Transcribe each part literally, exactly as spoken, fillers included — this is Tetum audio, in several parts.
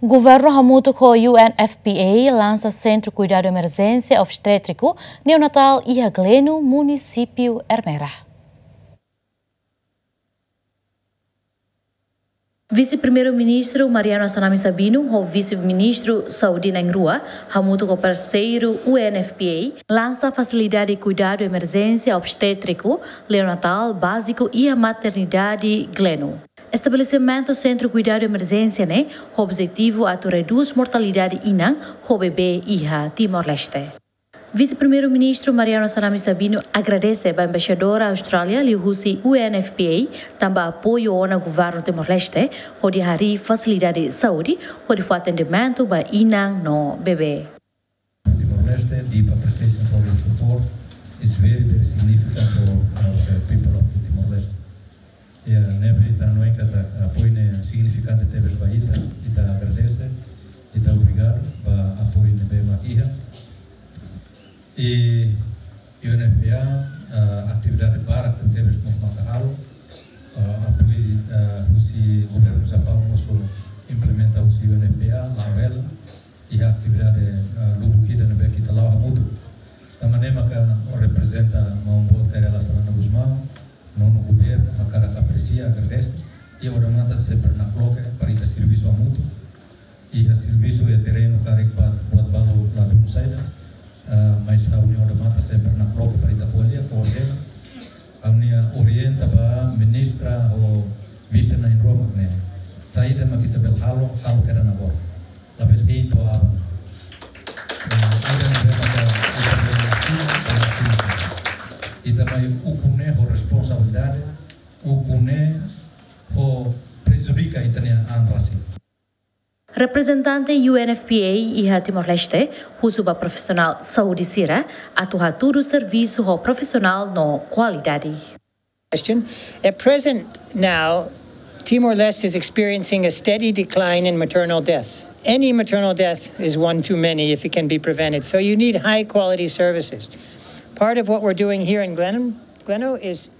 Governu hamutuk ho U N F P A lansa Sentru Kuidadu Emerjénsia Obstétriku Neonatál iha Gleno, munisípiu Ermera. Vise-Primeiru-Ministru Mariano Assanami Sabino ho Vise-Ministru Saúde na'in-rua, hamutuk ho parseiru U N F P A, lansa fasilidade kuidadu emerjénsia obstétriku neonatál báziku iha maternidade Gleno. Estabelesimentu Sentru Kuidadu Emerjénsia ne'e ho objetivu atu redús mortalidade inan ho bebé iha Timor-Leste. Vise-Primeiru-Ministru Mariano Assanami Sabino agradese ba Embaixadór Austrália liuhusi U N F P A tanba apoiu ona Governu Timor-Leste hodi harii fasilidade saúde hodi fó atendimentu ba inan no bebé. Timor-Leste, deep appreciation for your support is very, very significant for our people of Timor-Leste. Ya, ne'ebé ita hanoin katak apoiu ne'e signifikante tebes ba ita, ita agradese, ita obrigadu ba apoiu ne'ebé mak iha. I U N F P A, ah, atividade barak tebes mós maka halo, ah, apoiu, ah, husi governu Japaun mós implementa husi U N F P A, la'o hela, iha atividade, ah, lubuk ida ne'ebé ita la'o hamutuk. Tanba ne'e maka reprezenta maun boot Kay Rala Xanana Gusmão, nonu governu, hakarak apresia, agradese, i odamatan sempre nakloke para ita servisu hamutuk. Iha servisu iha terrenu karik buat, buat balu ladún saida, ah, mas ha'u-nia odamatan sempre nakloke para ita ko'alia, koordena. Ha'u-nia orienta ba ministra ho vise na'in-rua mak ne'e. Saida mak ita bele halo, halo kedas agora. Labele hein to'o aban. Eh, ida ne'ebé maka ita bele halo, ita mai ukun ne'e ho responsabilidade, ukun ne'e ho prejudika ita-nia an rasik. Reprezentante U N F P A iha Timor-Leste husu ba profisionál saúde sira atu hatudu servisu ho profisionál no kualidade. Question. At present now, Timor-Leste is experiencing a steady decline in maternal deaths. Any maternal death is one too many if it can be prevented. So you need high quality services. Part of what we're doing here in Gleno, Gleno is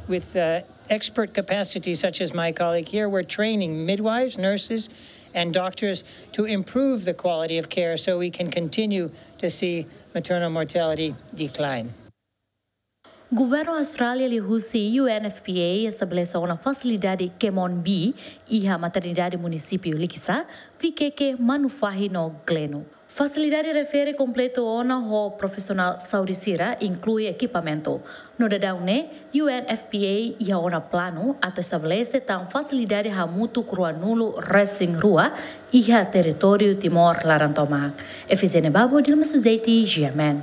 with, uh, expert capacity such as my colleague here, we're training midwives, nurses, and doctors to improve the quality of care so we can continue to see maternal mortality decline. Governu Austrália liuhusi U N F P A estabelese ona fasilidade Kemon B iha maternidade munisípiu Likisá, Viqueque, Manufahi no Gleno. Fasilidade refere kompletu ona ho profisionál saúde sira, inklui ekipamentu. No daudaun ne'e, U N F P A iha ona planu atu estabelese tan fasilidade hamutuk ruanulu resin rua iha territóriu Timor laran tomak. Efizene Babo, Dilma Suzeiti, G M N.